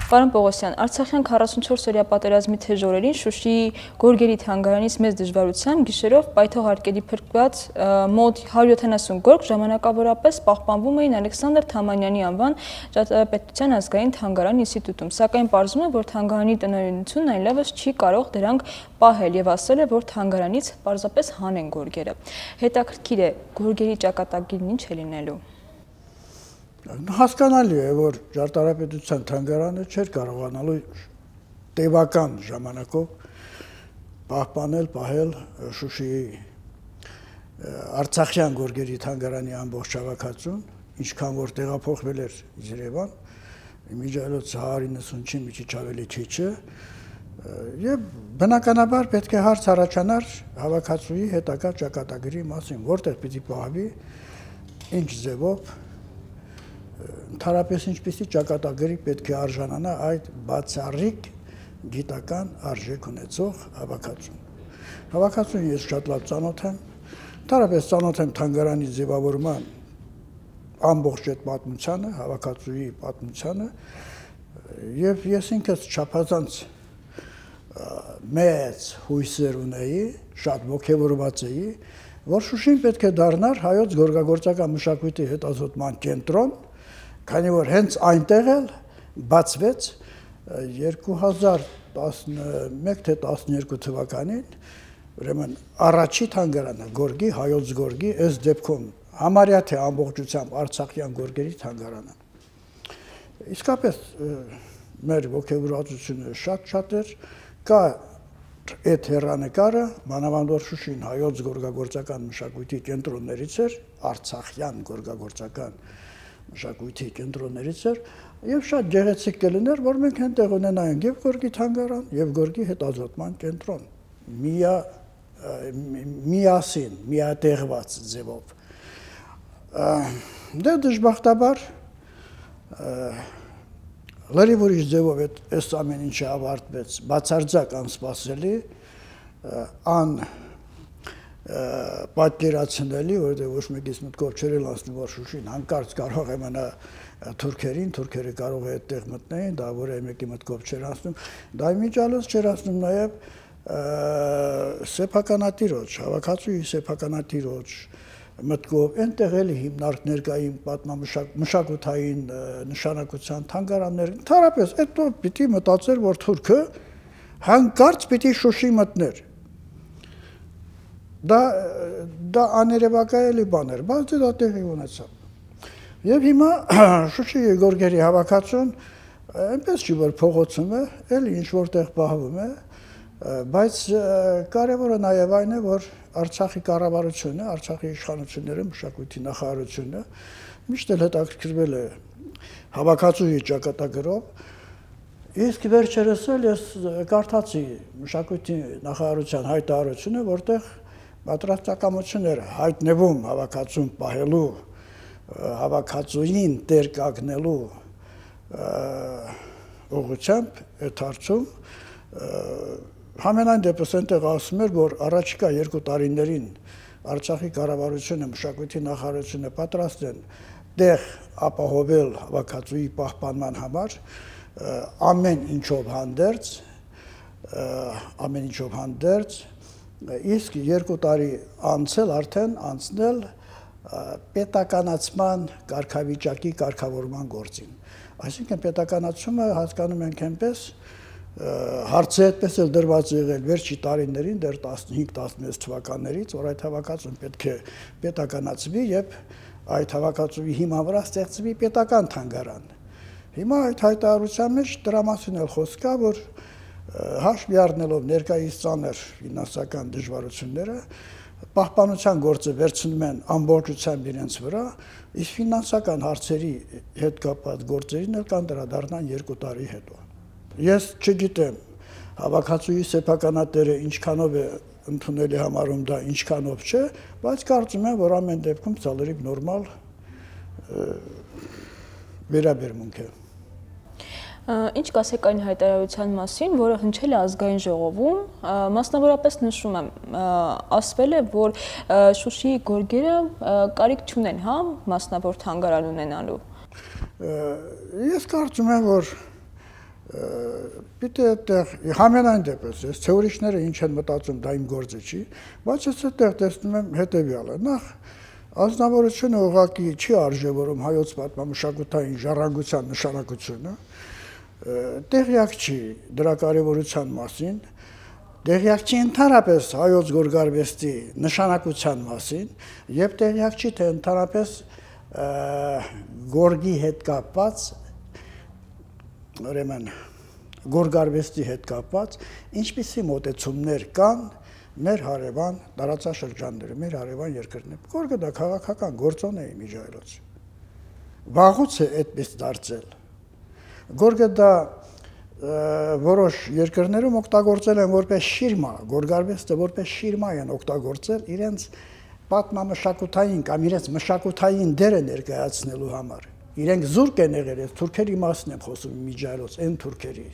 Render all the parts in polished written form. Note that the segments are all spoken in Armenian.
Պարոն Պողոսյան, Արցախյան 44-օրյա պատերազմի թեժ օրերին Շուշիի գորգերի թանգարանից մեծ դժվարությամբ գիշերով պայթող փրկված մոտ 170 գորգ ժամանակավորապես պահպանվում էին Ալեքսանդր Թամանյանի անվան ճարտարապետության ազգային թանգարան ինստիտուտում, սակայն պարզվում է, որ թանգարանի տնօրինությունն այլևս չի կարող դրանք պահել եւ ասել է, որ թանգարանից պարզապես հանեն գորգերը։ Հետաքրքիր է, գորգերի ճակատագիրն ինչ է լինելու։ Հասկանալի է, որ ճարտարապետության թանգարանը չէր կարողանալու տևական ժամանակով պահպանել, պահել Շուշիի Արցախյան գորգերի թանգարանի ամբողջ հավաքածուն, ինչքան որ տեղափոխվել էր Երևան, իմիջիայլոց 190-ի մի քիչ ավելի քիչ է, եւ բնականաբար պետք է հարց առաջանար հավաքածուի հետագա ճակատագրի մասին, որտեղ պիտի պահվի, ինչ ձևով Ընդհանրապես ինչպիսի ճակատագրի պետք է արժանանա այդ բացառիկ գիտական արժեք ունեցող հավաքածուն։ Հավաքածուն ես շատ լավ ծանոթ եմ, ընդհանրապես ծանոթ եմ թանգարանի ձևավորման ամբողջ այդ պատմությանը, հավաքածուի պատմությանը, եւ ես ինքս չափազանց մեծ հույսեր ունեի, շատ ոգևորված էի, որ Շուշին պետք է դառնար հայոց գորգագործական մշակույթի հետազոտման կենտրոն, քանի որ հենց այնտեղ էլ բացվեց 2011 թե 12 թվականին, ուրեմն առաջի թանգարանը գորգի, հայոց գորգի, այս դեպքում համարյա թե ամբողջությամբ արցախյան գորգերի թանգարանը։ Իսկապես մեր ոգևորվածությունը շատ էր, կա այդ հեռանկարը, մանավանդ որ Շուշին հայոց գորգագործական մշակույթի կենտրոններից էր, արցախյան գորգագործական մշակույթի կենտրոններից էր, եւ շատ գեղեցիկ կլիներ, որ մենք այնտեղ ունենայինք եւ գորգի թանգարան, եւ գորգի հետազոտման կենտրոն, միասին, միատեղված ձևով։ Դե դժբախտաբար լրիվ ուրիշ ձևով այս ամեն ինչը ավարտվեց, բացարձակ անսպասելի, պատկերացնելի, որտեղ ոչ մեկից մտքով չէր անցնում, որ Շուշին հանկարծ կարող է մնա թուրքերին, թուրքերը կարող է այդտեղ մտնեին, դա որ մեկի մտքով չէր անցնում, դա իմիջիայլոց չէր անցնում նաև սեփականատիրոջ, հավաքածուի սեփականատիրոջ մտքով, այնտեղ էլի հիմնարկներ կային մշակութային նշանակության թանգարաններ, ընդհանրապես այդտեղ պիտի մտածեր, որ թուրքը հանկարծ պիտի Շուշի մտներ։ Դա աներևակայելի բան էր, բայց դա տեղի ունեցավ։ Եվ հիմա Շուշիի գորգերի հավաքածուն այնպես չի, որ փողոցում է, էլի ինչ որտեղ պահվում է, բայց կարևորը նաև այն է, որ Արցախի կառավարությունը, Արցախի իշխանությունները, մշակույթի նախարարությունը միշտ էլ հետաքրքրվել է հավաքածուի ճակատագրով, իսկ վերջերս էլ ես կարդացի մշակույթի նախարարության հայտարարությունը, որտեղ պատրաստակամությունները հայտնվում հավաքածուն պահելու, հավաքածուին տեր կանգնելու ուղղությամբ այդ հարցում համենայն դեպս այնտեղ ասում էր, որ առաջիկա 2 տարիներին Արցախի կառավարությունը, մշակույթի նախարարությունը պատրաստ են տեղ ապահովել հավաքածուի պահպանման համար ամեն ինչով հանդերձ, իսկ 2 տարի անցել արդեն անցնել պետականացման կարգավիճակի կարգավորման գործին։ Այսինքն պետականացումը հասկանում ենք այնպես, հարցը այդպես էլ դրված եղել վերջի տարիներին, դեռ 15-16 թվականներից, որ այդ հավաքածուն պետք է պետականացվի եւ այդ հավաքածուի հիման վրա ստեղծվի պետական թանգարան։ Հիմա այդ հայտարարության մեջ դրա մասին էլ խոսք կա, որ հաշվի առնելով ներկայիս ծանր ֆինանսական դժվարությունները, պահպանության գործը վերցնում են ամբողջությամբ իրենց վրա, իսկ ֆինանսական հարցերի հետ կապված գործերին էլ կանդրադառնան 2 տարի հետո։ Ես չգիտեմ հավաքածուի սեփականատերը ինչքանով է ընդունելի համարում դա, ինչքանով չէ, բայց կարծում եմ, որ ամեն դեպքում սա լրիվ նորմալ վերաբերմունք է։ Ինչ կասեք այն հայտարարության մասին, որը հնչել է ազգային ժողովում, մասնավորապես նշում եմ, ասվել է, որ Շուշիի գորգերը կարիք չունեն, հա, մասնավոր թանգարան ունենալու։ Ես կարծում եմ, որ Պիտի այդտեղ համենայն դեպս ես թե ուրիշները ինչ են մտածում դա իմ գործը չի, բայց ես այդտեղ տեսնում եմ հետևյալը. նախ ազնվորությունը ուղղակի չի արժևորում հայոց պատմամշակութային ժառանգության նշանակությունը, տեղյակ չի դրա կարևորության մասին, տեղյակ չի ընդհանրապես հայոց գորգարվեստի նշանակության մասին եւ տեղյակ չի թե ընդհանրապես գորգի հետ կապված ուրեմն գորգարվեստի հետ կապված ինչպիսի մոտեցումներ կան մեր հարևան տարածաշրջաններում, մեր հարևան երկրներում։ Գորգը դա քաղաքական գործոն է իմիջայլոց։ Վաղուց է այդպես դարձել։ Գորգը դա որոշ երկրներում օգտագործել են որպես շիրմա, գորգարվեստը որպես շիրմա են օգտագործել իրենց պատմամշակութային կամ իրենց մշակութային դերը ներկայացնելու համար։ Իրենք զուրկ են եղել, ես թուրքերի մասն եմ խոսում իմիջայլոց, այն թուրքերի։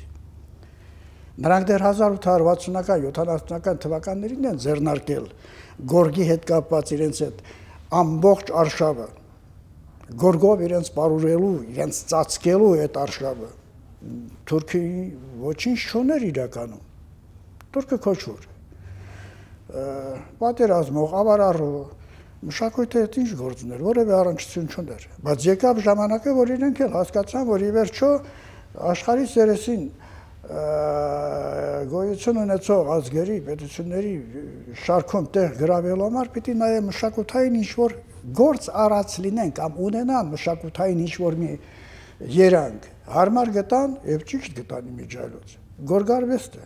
Նրանք դեռ 1860-ական, 70-ական թվականներին են ձեռնարկել գորգի հետ կապված իրենց այդ ամբողջ արշավը, գորգով իրենց պարուրելու, իրենց ծածկելու այդ արշավը։ Թուրքի ոչինչ չուներ իրականում։ Թուրքը քոչվոր։ Պատերազմող, ավարառու, մշակույթը այդ ինչ գործներ, որևէ առնչություն չուներ։ Բայց եկավ ժամանակը, որ իրենք էլ հասկացան, որ ի վերջո աշխարհի երեսին գոյություն ունեցող ազգերի, պետությունների շարքում տեղ գրավելու համար պիտի նաև մշակութային ինչ-որ գործ առած լինեն կամ ունենան մշակութային ինչ-որ մի երանգ, հարմար գտան եւ ճիշտ գտան իմիջայլոց։ Գորգարվեստը։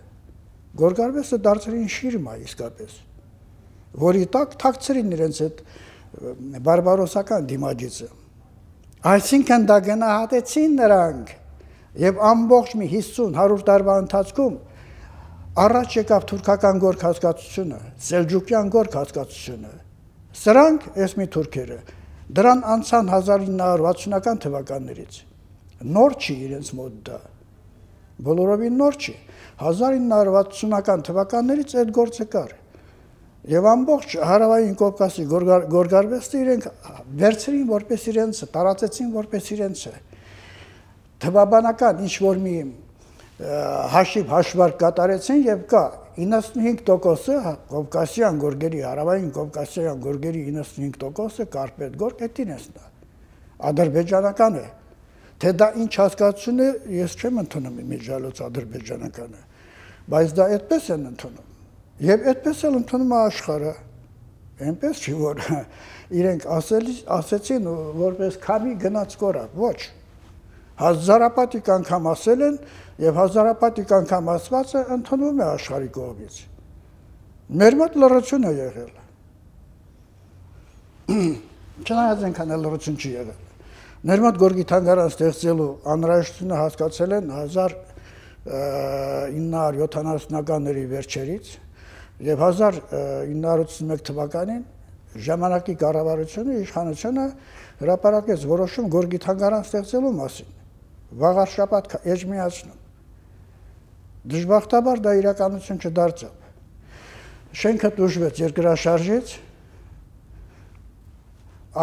Գորգարվեստը դարձրին շիրմա իսկապես, որի տակ թաքցրին իրենց այդ բարբարոսական դիմաջիցը։ Այսինքն դա գնահատեցին նրանք եւ ամբողջ մի 50-100 տարվա ընթացքում առաջ եկավ թուրքական գորգ հասկացությունը, սելջուկյան գորգ հասկացությունը։ Սրանք էս մի թուրքերը դրան անցան 1960-ական թվականներից։ Նոր չի իրենց մոտ դա։ Բոլորովին նոր չի։ 1960-ական թվականներից այդ գործը կար։ Եվ ամբողջ հարավային Կովկասի գորգարվեստը իրենք վերցրին որպես իրենցը, տարածեցին որպես իրենցը։ Թվաբանական ինչ-որ մի հաշիվ-հաշվարկ կատարեցին եւ կա 95%-ը Կովկասյան գորգերի, հարավային Կովկասյան գորգերի 95%-ը կարպետ գորգ էդին է։ Ադրբեջանական է։ Թե դա ինչ հասկացություն է, ես չեմ ընդունում իմիջայլոց ադրբեջանականը, բայց դա այդպես են ընդունում։ Եվ այդպես էլ ընդունում է աշխարհը։ Այնպես չի որ իրենք ասեցին որպես քամի գնաց կորավ, ոչ։ Հազարապատիկ անգամ ասել են եւ հազարապատիկ անգամ ասվածը ընդունվում է աշխարհի կողմից։ Մեր մոտ լռություն է եղել։ Չնայած այնքան էլ լռություն չի եղել։ Մեր մոտ գորգի թանգարան ստեղծելու անհրաժեշտությունը հասկացել են 1970-ականների վերջերից եւ 1981 թվականին ժամանակի կառավարությունը, իշխանությունը հրապարակեց որոշում գորգի թանգարան ստեղծելու մասին։ Վաղ շաբաթ էջմիացնում։ Դժբախտաբար դա իրականություն չդարձավ։ Շենքը տուժվեց երկրաշարժից,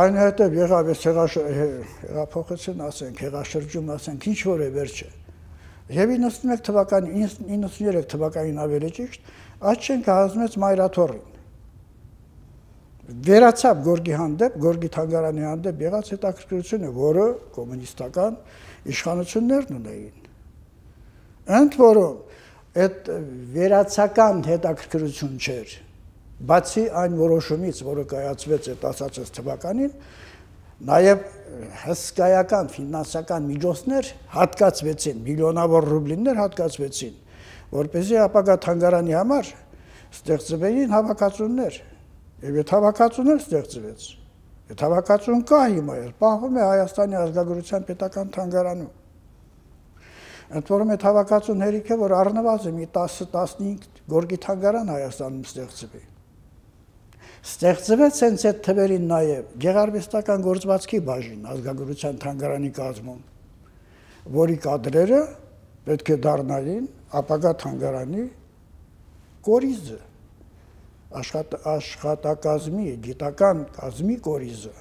այնուհետև եղավ այս հեղափոխություն, ասենք, հեղաշրջում, ասենք, ինչ որ է վերջը։ Եվ 91 թվականին, 93 թվականին ավելի ճիշտ, այդ շենքը հանձնեց Մայրաթոռին։ Վերացավ գորգի հանդեպ, գորգի թանգարանի հանդեպ եղած հետաքրքրությունը, որը կոմունիստական իշխանություններն ունեին։ Ընդ որում, այդ վերացական հետաքրքրություն չէր, բացի այն որոշումից, որը կայացվեց այդ ասածս թվականին, նաև հսկայական ֆինանսական միջոցներ հատկացվեցին, միլիոնավոր ռուբլիներ հատկացվեցին, որպեսզի ապագա թանգարանի համար ստեղծվեին հավաքածուներ, եւ այդ հավաքածուներ ստեղծվեց։ Այդ հավաքածուն կա հիմա, պահվում է Հայաստանի ազգագրության պետական թանգարանում։ Ընդ որում այդ հավաքածուն հերիք է, որ առնվազն մի 10-15 գորգի թանգարան Հայաստանում ստեղծվի։ Ստեղծվեց հենց այդ թվերին նաև գեղարվեստական գործվածքի բաժին ազգագրության թանգարանի կազմում, որի կադրերը պետք է դառնային ապագա թանգարանի կորիզը, աշխատակազմի, գիտական կազմի կորիզը։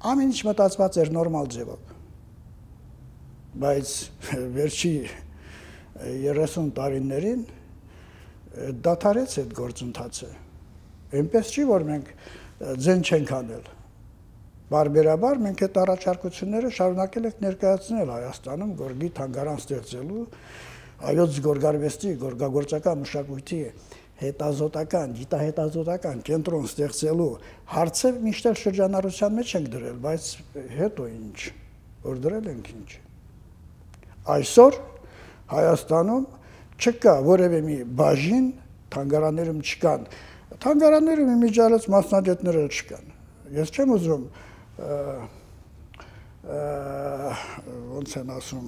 Ամեն ինչ մտածված էր նորմալ ձևով, բայց վերջի 30 տարիներին դադարեց այդ գործընթացը։ Այնպես չի, որ մենք ձեն չենք անել։ Բարբերաբար մենք այդ առաջարկությունները շարունակել ենք ներկայացնել Հայաստանում գորգի թանգարան ստեղծելու, հայոց գորգարվեստի, գորգագործական մշակույթի հետազոտական, գիտահետազոտական կենտրոն ստեղծելու հարցը միշտ շրջանառության մեջ ենք դրել, բայց հետո ինչ, որ դրել ենք ինչ։ Այսօր Հայաստանում չկա որևէ մի բաժին, թանգարաններում չկան, թանգարաններում իմիջիալից մասնագետներ չկան։ Ես չեմ ուզում ոնց են ասում,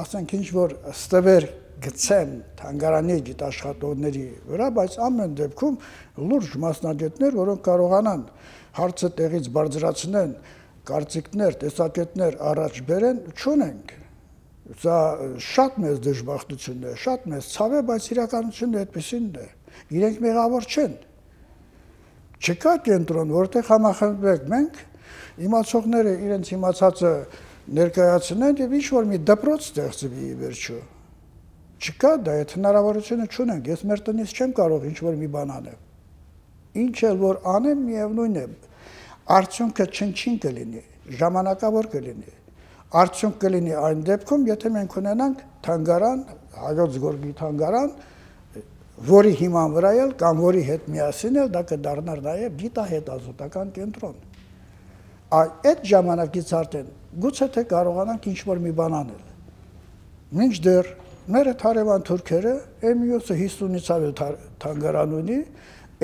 ասենք ինչ որ ստվեր գցեմ թանգարանի գիտաշխատողների վրա, բայց ամեն դեպքում լուրջ մասնագետներ, որոնք կարողանան հարցը տեղից բարձրացնեն, կարծիքներ, տեսակետներ առաջ բերեն, չունենք։ Սա շատ մեծ դժբախտություն է, շատ մեծ ցավ է, բայց իրականությունը այդպեսին է։ Իրենք մեղավոր չեն։ Չկա կենտրոն, որտեղ համախմբվենք մենք, իմացողները իրենց իմացածը ներկայացնեն եւ ինչ որ մի դպրոց ստեղծվի վերջո։ Չկա դա, այդ հնարավորությունը չունենք, ես մեր տնից չեմ կարող ինչ որ մի բան անել։ Ինչ էլ որ անեմ, միևնույն է, արդյունքը չնչին կլինի, ժամանակավոր կլինի։ Արդյունք կլինի այն դեպքում, եթե մենք ունենանք թանգարան, հայոց գորգի թանգարան, որի հիման վրա էլ կամ որի հետ միասին էլ դա կդառնար նաև գիտահետազոտական կենտրոն։ Այդ ժամանակից արդեն գուցե թե կարողանանք ինչ որ մի բան անել։ Մինչդեռ մեր հարևան թուրքերը մյուսը 50-ից ավել թանգարան ունի,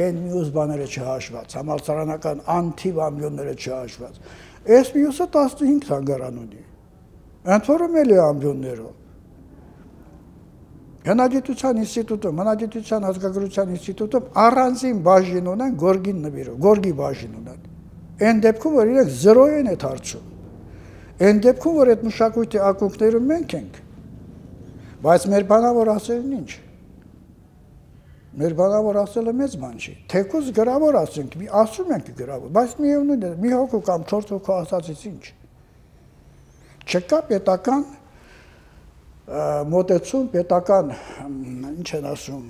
այն մյուս բաները չհաշված, համալսարանական անթիվ ամբիոնները չհաշված։ Այս մյուսը 15 թանգարան ունի։ Ընդ որում էլ է ամբիոններով։ Հնագիտության ինստիտուտում, հնագիտության ազգագրության ինստիտուտում առանձին բաժին ունեն գորգին նվիրող, գորգի բաժին ունեն։ Այն դեպքում, որ իրենք 0 են այդ հարցում։ Այն դեպքում, որ այդ մշակույթի ակունքներում մենք ենք։ Բայց մեր բանավոր ասելն ինչ։ Մեր բանավոր ասելը մեծ բան չի։ Թեկուզ գրավոր ասենք, ասում ենք գրավոր, բայց միևնույն է, մի հոգու կամ 4 հոգու ասածից ինչ։ Չկա պետական մոտեցում, պետական, ինչ են ասում,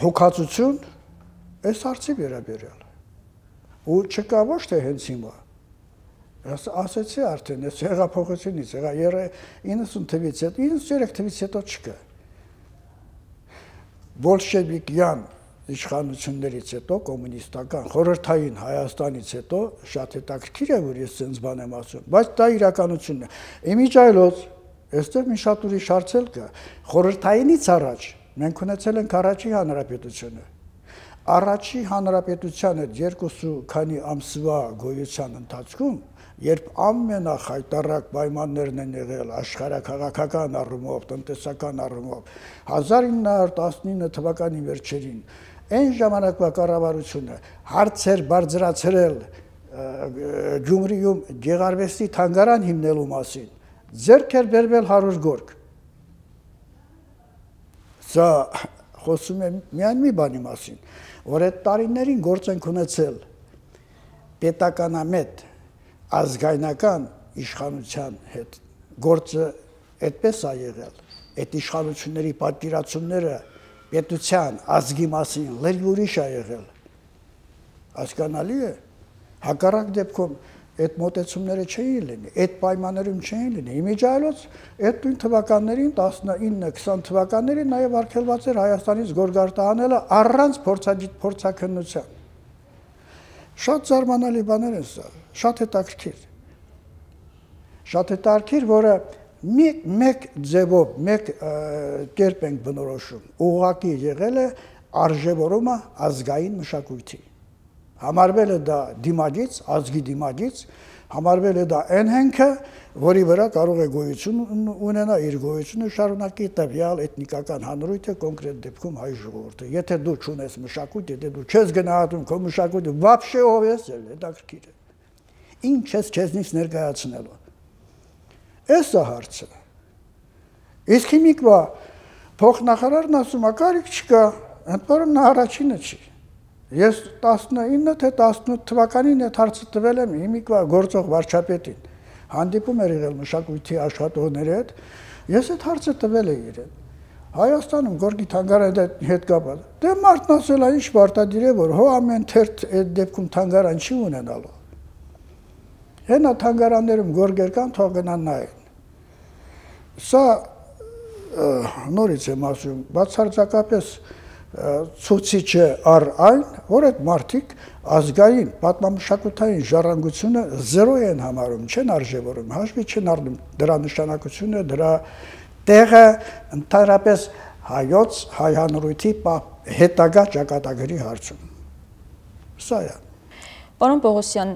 հոգացություն այս հարցի վերաբերյալ։ Ու չկա ոչ թե հենց հիմա։ Ասեցի արդեն, այս հեղափոխությունից, 90 թվից հետո, 93 թվից հետո չկա։ Բոլշևիկյան իշխանություններից հետո, կոմունիստական, խորհրդային Հայաստանից հետո շատ հետաքրքիր է, որ ես ցենց բան եմ ասում, բայց դա իրականությունն է։ Իմիջայլոց, այստեղ մի շատ ուրիշ հարց կա, խորհրդայինից առաջ մենք ունեցել ենք առաջի հանրապետությունը։ Առաջի հանրապետության այդ 2 քանի ամսվա գոյության ընթացքում, երբ ամենախայտառակ պայմաններն են եղել աշխարհաքաղաքական առումով, տնտեսական առումով, 1919 թվականի վերջերին այն ժամանակվա կառավարությունը հարցեր բարձրացրել Գյումրիում գեղարվեստի թանգարան հիմնելու մասին, ձեռք էր բերվել 100 գորգ։ Սա խոսում է միայն մի բանի մասին, որ այդ տարիներին գործ ենք ունեցել պետականամետ ազգայնական իշխանության հետ, գործը այդպես է եղել, այդ իշխանությունների պատկերացումները պետության, ազգի մասին լրիվ ուրիշ է եղել, հասկանալի է, հակառակ դեպքում այդ մոտեցումները չէին լինի, այդ պայմաններում չէին լինի, իմիջայլոց այդ նույն թվականներին, 19-20 թվականներին նաև արգելված էր Հայաստանից գորգարտահանելը առանց փորձաքննության։ Շատ զարմանալի բաներ են սա, շատ հետաքրքիր։ Շատ հետաքրքիր, որը մեկ ձևով, մեկ կերպ ենք բնորոշում, ուղղակի եղել է արժևորումը ազգային մշակույթի։ Համարվել է դա դիմագիծ, ազգի դիմագիծ, համարվել է դա այն հենքը, որի վրա կարող է գոյություն ունենա, իր գոյությունը շարունակի տվյալ էթնիկական հանրույթը, կոնկրետ դեպքում հայ ժողովուրդը։ Եթե դու չունես մշակույթ, եթե դու չես գնահատում քո մշակույթը, вообще ով ես, հետաքրքիր է։ Ինչ ես քեզնից ներկայացնելու։ Էս է հարցը։ Իսկ հիմիկվա փոխնախարարն ասում է, կարիք չկա, ընդ որում նա առաջինը չի։ Ես 19 թե 18 թվականին այդ հարցը տվել եմ հիմիկվա գործող վարչապետին։ Հանդիպում էր եղել մշակույթի աշխատողների հետ, Ես այդ հարցը տվել եմ իրեն։ Հայաստանում Գորգի թանգարանի հետ կապված։ Դե մարդն ասել է, ինչ պարտադիր է, որ հո ամեն թերթ այդ դեպքում թանգարան չի ունենալու։ Հենա թանգարաններում գորգեր կան, թող գնան նայեն։ Սա նորից եմ ասում, բացարձակապես ցուցիչ է առ այն, որ այդ մարդիկ ազգային պատմամշակութային ժառանգությունը զերո են համարում, չեն արժևորում, հաշվի չեն առնում դրա նշանակությունը, դրա տեղը ընդհանրապես հայոց հայ հանրույթի հետագա ճակատագրի հարցում։ Սա է։ Պարոն Պողոսյան,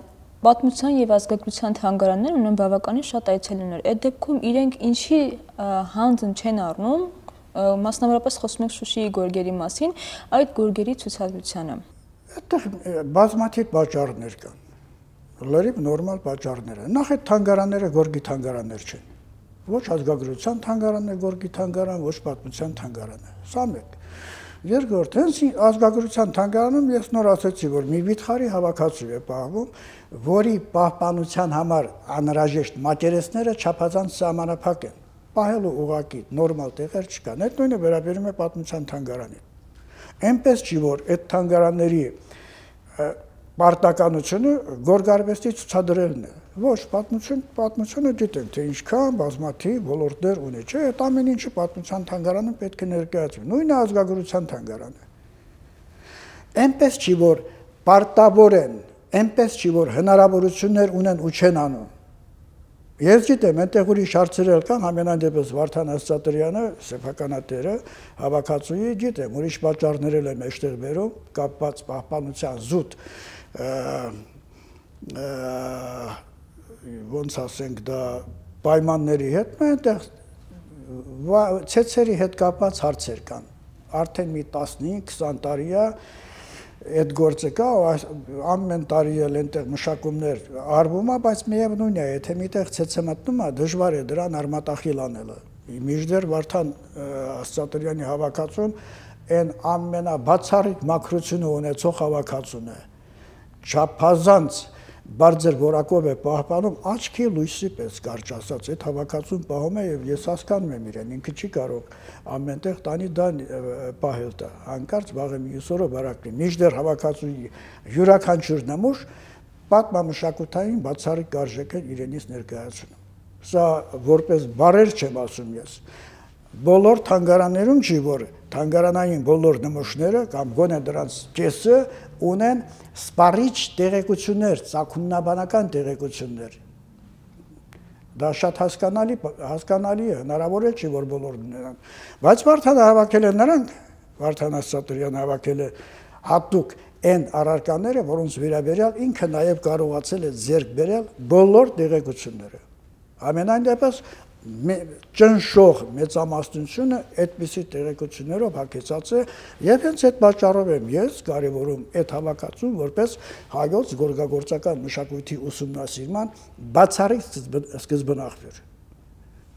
պատմության եւ ազգագրության թանգարաններն ունեն բավականին շատ այցելուներ։ Այդ դեպքում իրենք ինչի հանձն չեն առնում, մասնավորապես խոսում ենք Շուշիի գորգերի մասին, այդ գորգերի ցուցադրությանը։ Այդտեղ բազմաթիվ պատճառներ կան։ Լրիվ նորմալ պատճառներ են։ Նախ այդ թանգարանները գորգի թանգարաններ չեն։ Ոչ ազգագրության թանգարանն է գորգի թանգարան, ոչ պատմության թանգարանը։ Սա մեկ։ Երկրորդ, հենց ազգագրության թանգարանում ես նոր ասացի, որ մի վիթխարի հավաքածու է պահվում, որի պահպանության համար անհրաժեշտ մակերեսները չափազանց սահմանափակ են։ Պահելու ուղղակի նորմալ տեղեր չկան։ Այդ նույնը վերաբերում է պատմության թանգարանին։ Այնպես չի, որ այդ թանգարանների պարտականությունը գորգարվեստի ցուցադրելն է։ Ոչ, պատմությունը գիտենք, թե ինչքան բազմաթիվ ոլորտներ ունի, չէ, այդ ամեն ինչը պատմության թանգարանում պետք է ներկայացվի։ Նույնը ազգագրության թանգարանը։ Այնպես չի, որ պարտավոր են, այնպես չի, որ հնարավորություններ ունեն ու չեն անում։ Ես գիտեմ, այնտեղ ուրիշ հարցեր կան, համենայն դեպս Վարդան Ասատրյանը, սեփականատերը, հավաքածուի գիտեմ, ուրիշ պատճառներ էլ եմ այստեղ վերում, կապված պահպանության զուտ ոնց ասենք դա պայմանների հետ, այնտեղ ցեցերի հետ կապված հարցեր կան։ Արդեն մի 15-20 տարի է այդ գործը կա, ամեն տարի էլ այնտեղ մշակումներ արվում է, բայց միևնույն է, եթե միտեղ ցեցը մտնում է, դժվար է դրան արմատախիլ անելը։ Մինչդեռ Վարդան Ասատրյանի հավաքածուն այն ամենաբացառիկ մաքրությունը ունեցող հավաքածուն է։ Չափազանց բարձր որակով է պահպանում, աչքի լույսի պես կարճ ասած, այդ հավաքածուն պահում է եւ ես հասկանում եմ իրեն, ինքը չի կարող ամենտեղ տանի դա պահել դա, հանկարծ վաղը մյուս օրը բարակլի։ Մինչդեռ հավաքածուի յուրաքանչյուր նմուշ պատմամշակութային բացառիկ արժեք է իրենից ներկայացնում։ Սա որպես բարեր չեմ ասում ես։ Բոլոր թանգարաններում չի, որ թանգարանային բոլոր նմուշները կամ գոնե դրանց կեսը ունեն սպառիչ տեղեկություններ, ծագումնաբանական տեղեկություններ։ Դա շատ հասկանալի է, հնարավոր է չի, որ բոլորն ունենան։ Բայց Վարդանը հավաքել է նրանք, Վարդան Ասատրյանը հավաքել է հատուկ այն առարկաները, որոնց վերաբերյալ ինքը նաև կարողացել է ձեռք բերել բոլոր տեղեկությունները։ Ամենայն դեպս ճնշող մեծամասնությունը այդպիսի տեղեկություններով հագեցած է եւ հենց այդ պատճառով եմ ես կարևորում այդ հավաքածուն որպես հայոց գորգագործական մշակույթի ուսումնասիրման բացառիկ սկզբնաղբյուր։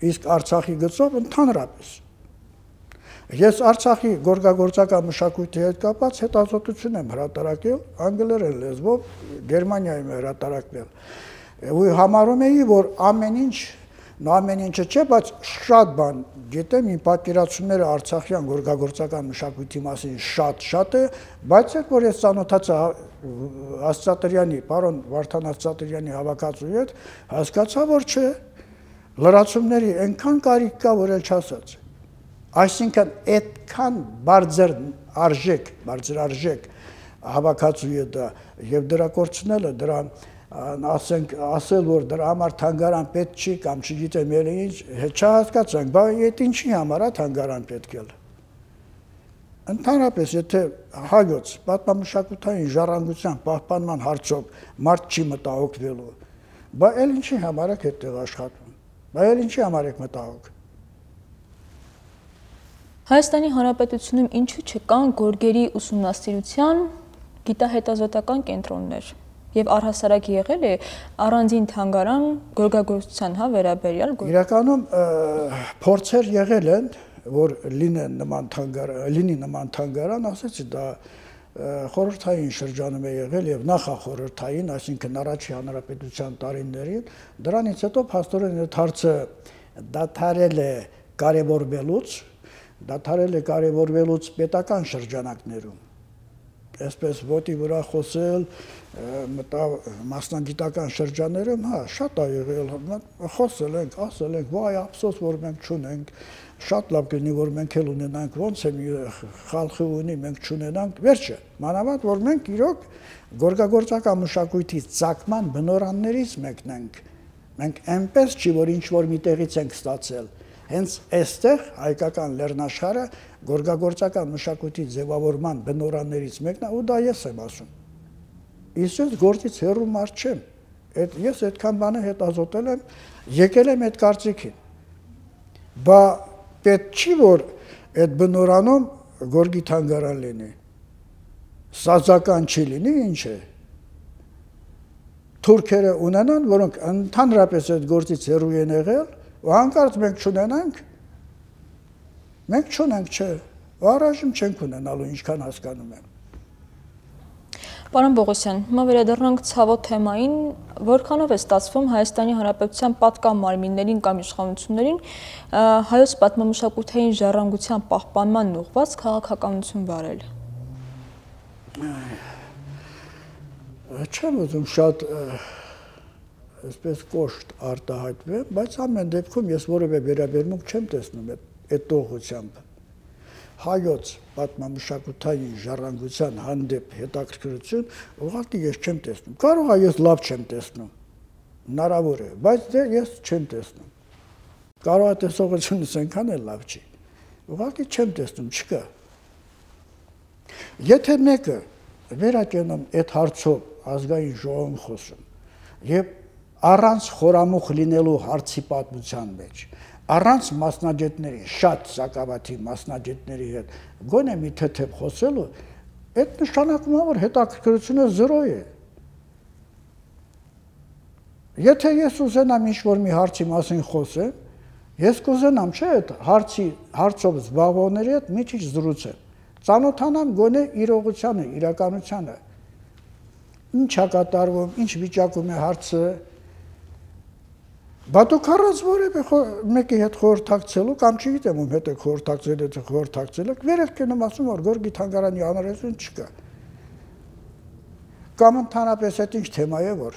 Իսկ Արցախի գծով ընդհանրապես ես Արցախի գորգագործական մշակույթի հետ կապված հետազոտություն եմ հրատարակել անգլերեն լեզվով Գերմանիայում հրատարակվել։ Ու համարում էի, որ ամեն ինչը չէ, բայց շատ բան գիտեմ, իմ պատկերացումները արցախյան գորգագործական մշակույթի մասին շատ է, բայց երբ որ ես ծանոթացա Ասատրյանի, պարոն Վարդան Ասատրյանի հավաքածուի հետ, հասկացա, որ չէ, լրացումների այնքան կարիք կա, որ էլ չասած։ Այսինքն այդքան բարձր արժեք հավաքածուի դա եւ դրա կորցնելը դրան ասել, որ դրա համար թանգարան պետք չի կամ չգիտեմ ելի ինչ, չհասկացանք, բայց այդ ինչի համար է թանգարան պետք է։ Ընդհանրապես, եթե հայոց պատմամշակութային ժառանգության պահպանման հարցով մարդ չի մտահոգվելու, բայց էլ ինչի համար եք այդտեղ աշխատում, բայց էլ ինչի համար եք մտահոգ։ Հայաստանի Հանրապետությունում ինչու չկան գորգերի ուսումնասիրության գիտահետազոտական կենտրոններ։ Եվ առհասարակ եղել է առանձին թանգարան գորգագործության վերաբերյալ։ Իրականում փորձեր եղել են, որ լինի նման թանգարան, ասեցի դա խորհրդային շրջանում է եղել եւ նախախորհրդային, այսինքն առաջի հանրապետության տարիներին, դրանից հետո փաստորեն այդ հարցը դադարել է կարևորվելուց պետական շրջանակներում, այսպես ոտի վրա խոսել, մասնագիտական շրջաններում, շատ է եղել, խոսել ենք, ասել ենք, վայ ափսոս, որ մենք չունենք, շատ լավ կլինի, որ մենք էլ ունենանք, ոնց է խալխի ունի, մենք չունենանք, վերջը, մանավանդ, որ մենք իրոք գորգագործական մշակույթի ծագման բնորաններից մեկն ենք, մենք այնպես չի, որ ինչ-որ մի տեղից ենք ստացել, հենց այստեղ հայկական լեռնաշխարհը գորգագործական մշակույթի ձևավորման բնորաններից մեկն է, ու դա ես եմ ասում։ Իսկ գործից հեռու մարդ չեմ, ես այդքան բանը հետազոտել եմ, եկել եմ այդ կարծիքին, բա պետք չի, որ այդ բնորանում գորգի թանգարան լինի, սազական չի լինի, ինչ է, թուրքերը ունենան, որոնք ընդհանրապես այդ գործից հեռու են եղել, ու հանկարծ մենք չունենանք, մենք չունենք, չէ, առայժմ չենք ունենալու, ինչքան հասկանում եմ։ Պարոն Պողոսյան, հիմա վերադառնանք ցավոտ թեմային, որքանով է ստացվում Հայաստանի Հանրապետության պատկան մարմիններին կամ իշխանություններին հայոց պատմամշակութային ժառանգության պահպանման ուղղված քաղաքականություն վարել։ Չեմ ուզում շատ այսպես կոշտ արտահայտվեմ, բայց ամեն դեպքում ես որևէ վերաբերմունք չեմ տեսնում այդ տողությամբ։ Հայոց պատմամշակութային ժառանգության հանդեպ հետաքրքրություն ուղղակի ես չեմ տեսնում։ Կարող է ես լավ չեմ տեսնում, հնարավոր է, բայց դե ես չեմ տեսնում։ Կարող է տեսողությունս այնքան էլ լավ չի։ Ուղղակի չեմ տեսնում, չկա։ Եթե մեկը վերակենում այդ հարցով ազգային ժողովում խոսում եւ առանց խորամուխ լինելու հարցի պատմության մեջ, առանց մասնագետների, շատ սակավաթի մասնագետների հետ գոնե մի թեթև խոսելու, այդ նշանակում է, որ հետաքրքրությունը զրո է։ Եթե ես ուզենամ ինչ-որ մի հարցի մասին խոսեմ, ես կուզենամ, չէ, այդ հարցով զբաղվողների հետ մի քիչ զրուցեմ, ծանոթանամ գոնե իրողությանը, իրականությանը, ինչ է կատարվում, ինչ վիճակում է հարցը, բա դուք առանց որևէ մեկի հետ խորհրդակցելու կամ չգիտեմ ում հետ եք խորհրդակցել եք, վեր եք կենում ասում, որ գորգի թանգարանի անհրաժեշտություն չկա։ Կամ ընդհանրապես այդ ինչ թեմա է, որ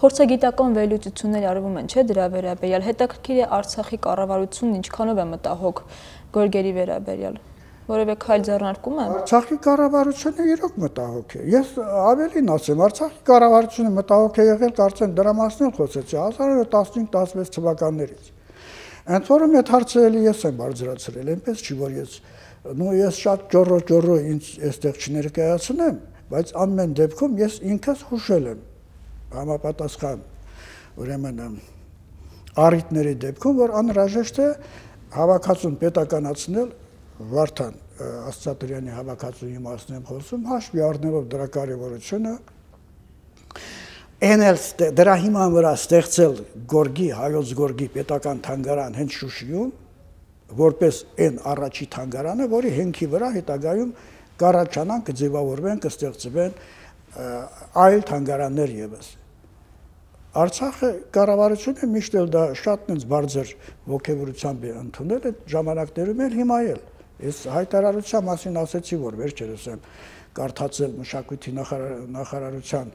Փորձագիտական վերլուծություններ արվում են, չէ, դրա վերաբերյալ, հետաքրքիր է Արցախի կառավարությունն ինչքանով է մտահոգ գորգերի վերաբերյալ։ Որևէ քայլ ձեռնարկում է։ Արցախի կառավարությունը իրոք մտահոգ է։ Ես ավելին ասեմ, Արցախի կառավարությունը մտահոգ է եղել, կարծեմ դրա մասին էլ խոսեցի 1915-16 թվականներից։ Ընդ որում այդ հարցը էլի ես եմ բարձրացրել, այնպես չի, որ ես շատ ճոռո ինձ այստեղ չներկայացնեմ, բայց ամեն դեպքում ես ինքս հուշել եմ համապատասխան ուրեմն առիթների դեպքում, որ անհրաժեշտ է հավաքածուն պետականացնել Վարդան Աստղատրյանի հավաքածուի մասին եմ խոսում, հաշվի առնելով դրա կարևորությունը, դրա հիման վրա ստեղծել գորգի, հայոց գորգի պետական թանգարան հենց Շուշիում, որպես այն առաջի թանգարանը, որի հենքի վրա հետագայում կառաջանան, կձևավորվեն, կստեղծվեն այլ թանգարաններ ևս։ Արցախը կառավարությունը միշտ էլ դա շատ բարձր ոգևորությամբ է ընդունել, այդ ժամանակներում էլ հիմա էլ։ Ես հայտարարության մասին ասեցի, որ վերջերս եմ կարդացել մշակույթի նախարարության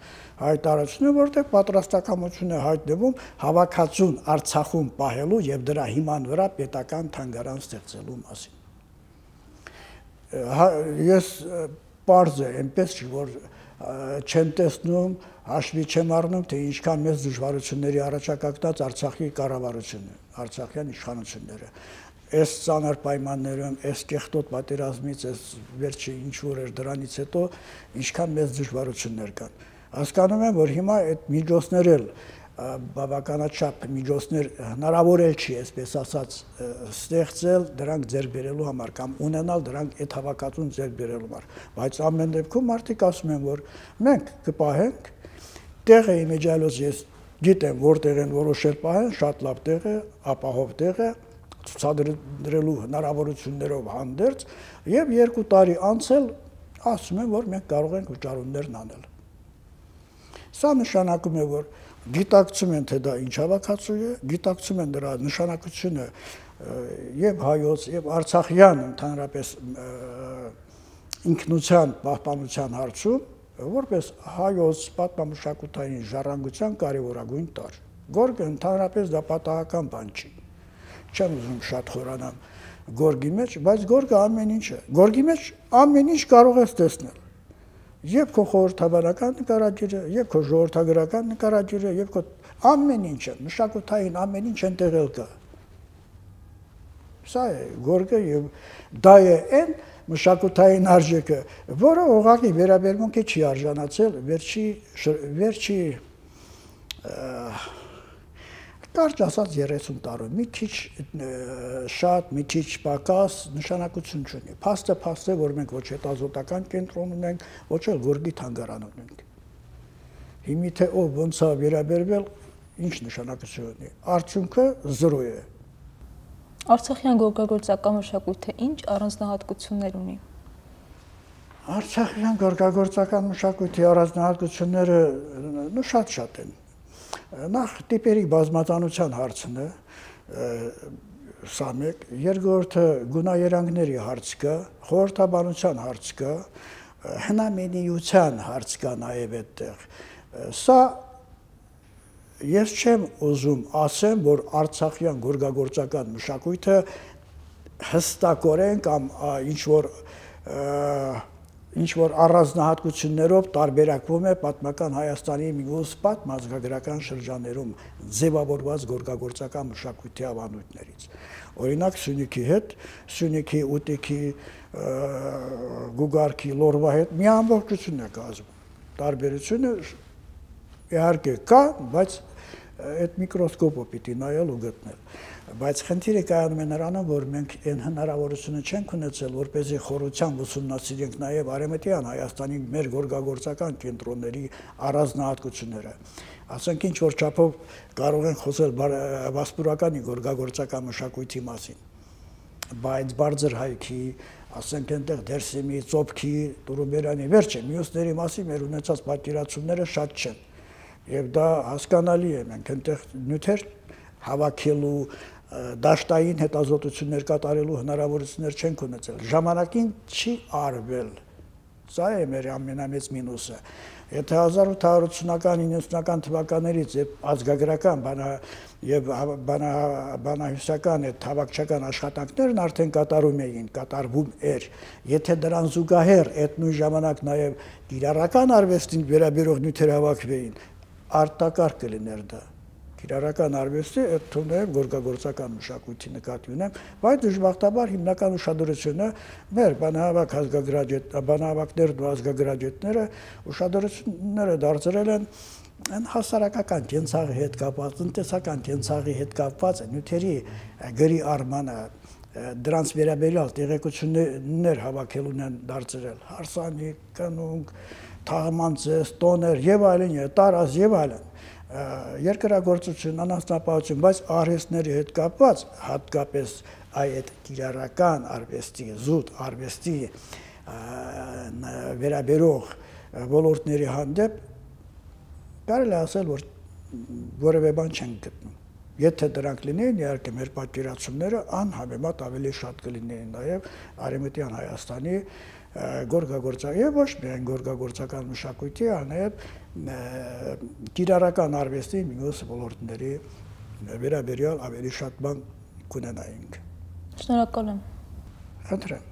հայտարարությունը, որտեղ պատրաստակամություն է հայտնվում հավաքածուն Արցախում պահելու եւ դրա հիման վրա պետական թանգարան ստեղծելու մասին։ Ես պարզ է, այնպես չի, որ չեմ տեսնում, հաշվի չեմ առնում, թե ինչքան մեծ դժվարությունների առաջակակնած Արցախի կառավարությունը, արցախյան իշխանությունները։ Այս ծանր պայմաններում, այս կեղտոտ պատերազմից, այս վերջի ինչ-որ էր դրանից հետո, ինչքան մեծ դժվարություններ կան։ Հասկանում եմ, որ հիմա այդ միջոցներ էլ բավականաչափ միջոցներ հնարավոր էլ չի, այսպես ասած, ստեղծել դրանք ձեռք բերելու համար կամ ունենալ դրանք այդ հավաքածուն ձեռք բերելու համար, բայց ամեն դեպքում մարդիկ ասում են, որ մենք կպահենք, տեղը իմիջիալոց ես գիտեմ, որտեղ են որոշել պահեն, շատ լավ տեղ է, ապահով տեղ է, ցուցադրելու հնարավորություններով հանդերձ եւ 2 տարի անցել ասում են, որ մենք կարող ենք վճարումներն անել։ Սա նշանակում է, որ գիտակցում են, թե դա ինչ հավաքածու է, գիտակցում են դրա նշանակությունը եւ հայոց եւ արցախյան ընդհանրապես ինքնության պահպանության հարցում, որպես հայոց պատմամշակութային ժառանգության կարևորագույն տարր։ Գորգը ընդհանրապես դա պատահական բան չի։ Չեմ ուզում շատ խորանամ գորգի մեջ, բայց գորգը ամեն ինչ է։ Գորգի մեջ ամեն ինչ կարող ես տեսնել։ Եվ քո խորհրդաբանական նկարագիրը, եւ քո ժողովրդագրական նկարագիրը, եւ քո ամեն ինչը, մշակութային ամեն ինչ այնտեղ կա։ Սա է գորգը եւ դա է այն մշակութային արժեքը, որը ուղղակի վերաբերմունքի չի արժանացել վերջի կարճ ասած 30 տարում, մի քիչ շատ, մի քիչ պակաս նշանակություն չունի։ Փաստը է, որ մենք ոչ հետազոտական կենտրոն ունենք, ոչ էլ գորգի թանգարան ունենք։ Հիմի թե ով ոնց է վերաբերվել, ինչ նշանակություն ունի։ Արդյունքը 0 է։ Արցախյան գորգագործական մշակույթը ինչ առանձնահատկություններ ունի։ Արցախյան գորգագործական մշակույթի առանձնահատկությունները շատ են։ Նախ տիպերի բազմազանության հարցն է, սա մեկ, երկրորդը գունաերանգների հարց կա, խորհրդաբանության հարց կա, հնամենիության հարց կա նաև այդտեղ։ Սա ես չեմ ուզում ասեմ, որ արցախյան գորգագործական մշակույթը հստակորեն կամ ինչ որ առանձնահատկություններով տարբերակվում է պատմական Հայաստանի մյուս պատմազգագրական շրջաններում ձևավորված գորգագործական մշակույթի ավանդույթներից։ Օրինակ Սյունիքի հետ, Սյունիքի ուտիքի, գուգարքի, լորվա հետ մի ամբողջություն է կազմում։ Տարբերությունը իհարկե կա, բայց այդ միկրոսկոպը պիտի նայել ու գտնել։ Բայց խնդիրը կայանում է նրանում, որ մենք այն հնարավորությունը չենք ունեցել, որպեսզի խորությամբ ուսումնասիրենք նաև արևմտյան Հայաստանի մեր գորգագործական կենտրոնների առանձնահատկությունները։ Ասենք ինչ որ չափով կարող են խոսել վասպուրականի գորգագործական մշակույթի մասին, բայց բարձր հայքի, ասենք այնտեղ Դերսիմի, Ծոփքի, Տուրուբերյանի, վերջը մյուսների մասին մեր ունեցած պատկերացումները շատ չեն։ Եվ դա հասկանալի է, մենք այնտեղ նյութեր հավաքելու, դաշտային հետազոտություններ կատարելու հնարավորություններ չենք ունեցել։ Ժամանակին չի արվել։ Սա է մեր ամենամեծ մինուսը։ Եթե 1880-ական, 90-ական թվականներից ազգագրական եւ բանահյուսական այդ հավաքչական աշխատանքներն արդեն կատարվում էր, եթե դրան զուգահեռ այդ նույն ժամանակ նաեւ կիրառական արվեստին վերաբերող նյութեր հավաքվեին, արտակարգ կլիներ դա։ Կիրառական արվեստի այդ թվում գորգագործական մշակույթի նկատի ունեմ, բայց դժբախտաբար հիմնական ուշադրությունը մեր բանահավաքներն ու ազգագրագետները ուշադրությունները դարձրել են այն հասարակական կենցաղի հետ կապված, տնտեսական կենցաղի հետ կապված նյութերի գրի արմանը, դրանց վերաբերյալ տեղեկություններ հավաքելուն են դարձրել, հարսանիք, կնունկ, թաղմանցես, տոներ եւ այլն, տարազ եւ այլն։ Երկրագործություն, անասնապահություն, բայց արհեստների հետ կապված հատկապես այդ կիրառական արվեստի, զուտ արվեստի վերաբերող ոլորտների հանդեպ կարելի ասել, որ որևէ բան չեն գտնում։ Եթե դրանք լինեին, իհարկե մեր պատկերացումները անհամեմատ ավելի շատ կլինեին նաև արևմտյան Հայաստանի գորգագործական եւ ոչ միայն գորգագործական մշակույթի, այլ նաև կիրառական արվեստի մյուս ոլորտների վերաբերյալ ավելի շատ բան կունենայինք։ Շնորհակալ եմ։ Խնդրեմ։